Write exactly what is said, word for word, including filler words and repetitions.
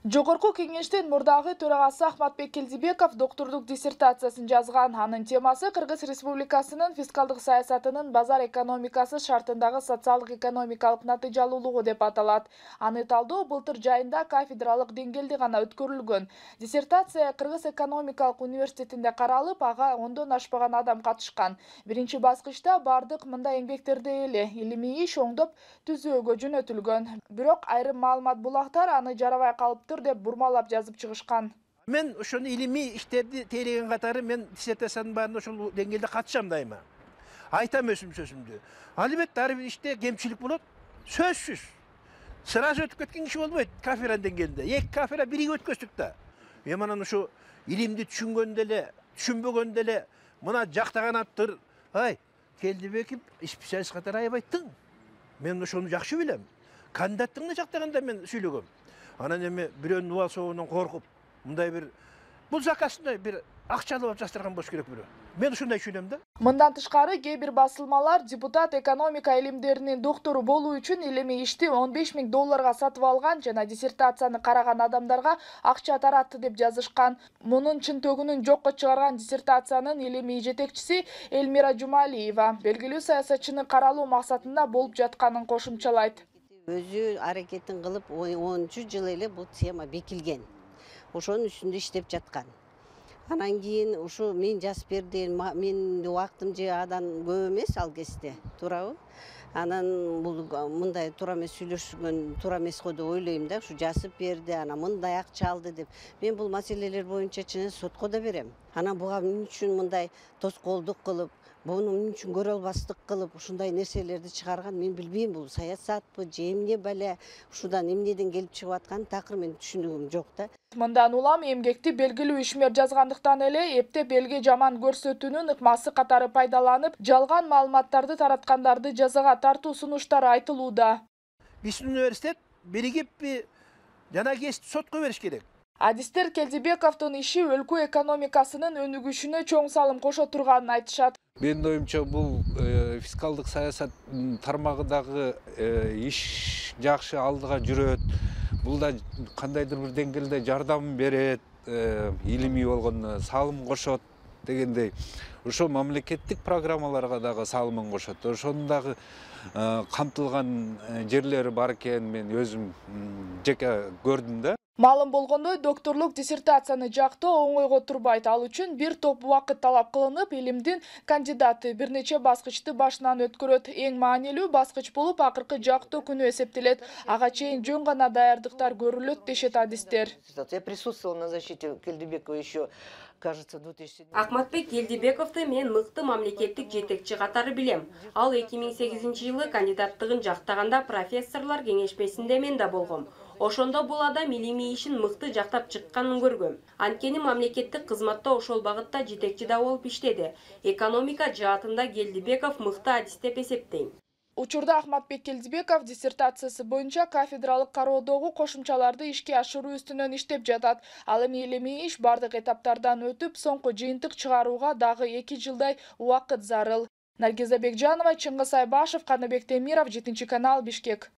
Жогорку кеңештин мурдагы төрагасы Ахматбек Келдибеков доктордук диссертациясын жазган. Анын темасы Кыргыз Республикасынын фискалдык саясатынын базар экономикасы шартындагы социалдык экономикалык натыйжалуулугу деп аталат. Аны талдоо былтыр жайында кафедралык деңгээлде гана өткөрүлгөн. Диссертация Кыргыз экономикалык университетинде каралып, ага ондон ашпаган адам катышкан. Биринчи баскычта бардык мындай эмгектерде эле илимий иш оңдоп түзүүгө жөнөтүлгөн. Бирок айрым маалымат булактар аны жарабай калыптыр деп бурмалап жазып чыгышкан. Мен ошону илимий иштерди тейлеген катары мен диссертациянын баарында ошол деңгээлде катышам дайыма. Айтам өсүм сөзүмдү. Албетте ар бир иште кемчилик болот. Сөзсүз. Сразу өтүп кеткен киши болбойт кафедра деңгээлинде. Эки кафедра бирге өткөздүк да. Мен анан ушу илимди түшүнгөндө эле, түшүнбөгөндө эле мына жактаган аттыр. Ай, Келдибеков специалист катары аябайттың. Мен ошону жакшы билем. Кандидаттыгын жактаганда мен сүйлөгөм. Анан эми бирөөнүн убал соогунан коркуп, мындай бир бул заказды бир акчалуу алып жастырган болуш керек бирөө. Мен ушундай түшүнөм да. Мындан тышкары кээ бир басылмалар депутат экономика илимдеринин доктору болуу үчүн илимий ишти он беш миң долларга сатып алган жана диссертацияны караган адамдарга акча таратты деп жазышкан. Мунун чын-төгүнүн жокко чыгарган диссертациянын илимий жетекчиси Элмира Жумалиева белгилүү саясатчыны каралуу максатында болуп жатканын кошумчалайт. Өзү аракетин кылып онунчу жылы эле бул тема бекилген. Ошонун үстүндө иштеп жаткан. Анан кийин ушу мен жазып бердим, менин убактым же адан көп эмес ал кезде, туурабы? Анан бул мындай туура эмес сүйлөшкөн, туура эмес го деп ойлойм да, ушу жазып берди, анан мындай акча алды деп. Мен бул маселелер боюнча чын сотко да берем. Анан буга эмне үчүн мындай тоскоолдук кылып, буну эмне үчүн көрө албастык кылып, ушундай нерселерди чыгарган мен билбейм, бул саясатпы, же эмне бале, ушудан эмнеден келип чыгып аткан такыр мен түшүнүгүм жок да. Мындан улам эмгекти белгилүү ишмер жазгандыктан эле эптеп элге жаман көрсөтүүнүн ыкмасы катары пайдаланып, жалган маалыматтарды тараткандарды жазага тартуу сунуштары айтылууда. Биздин университет биригиппи жана кесипти сотко бериш керек. Адистер Келдибековдун иши өлкө экономикасынын өнүгүшүнө чоң салым кошо турганын айтышат. Менин оюмча бул фискалдык саясат тармагындагы иш жакшы алдыга жүрөт. Бул да кандайдыр бир деңгээлде жардам берет, илимий болгондо салым кошот дегендей. Ошо мамлекеттик программаларга дагы салымын кошот. Ошонун дагы камтылган жерлери бар экенин мен өзүм жеке көрдүм да. Маалым болгондой, докторлук диссертацияны жактоо оңойго турбайт. Ал үчүн бир топ убакыт талап кылынып, илимдин кандидаты бир нече баскычты башынан өткөрөт. Эң маанилүү баскыч болуп акыркы жактоо күнү эсептелет. Ага чейин жөн гана даярдыктар көрүлөт дешет адистер. Я присутствовала на защите Келдибекова еще, кажется, в две тысячи седьмом. Ахматбек Келдибековду мен мыкты мамлекеттик жетекчи катары билем. Ал эки миң сегизинчи жылы кандидаттыгын жактаганда профессорлор кеңешмесинде мен да болгом. Ошондо бул адам илимий ишин мыкты жактап чыкканын көргөм. Анткени мамлекеттик кызматта ошол багытта жетекчи да болуп иштеди. Экономика жаатында Келдибеков мыкты адис деп эсептейм. Учурда Ахматбек Келдибеков диссертациясы боюнча кафедралык кароодогу кошумчаларды ишке ашыруу үстүнөн иштеп жатат. Ал эми илимий иш бардык этаптардан өтүп, соңку жыйынтык чыгарууга дагы эки жылдай убакыт зарыл. Наргиза Бекжанова, Чыңгыз Айбашев, Каныбек Темиров, жетинчи канал, Бишкек.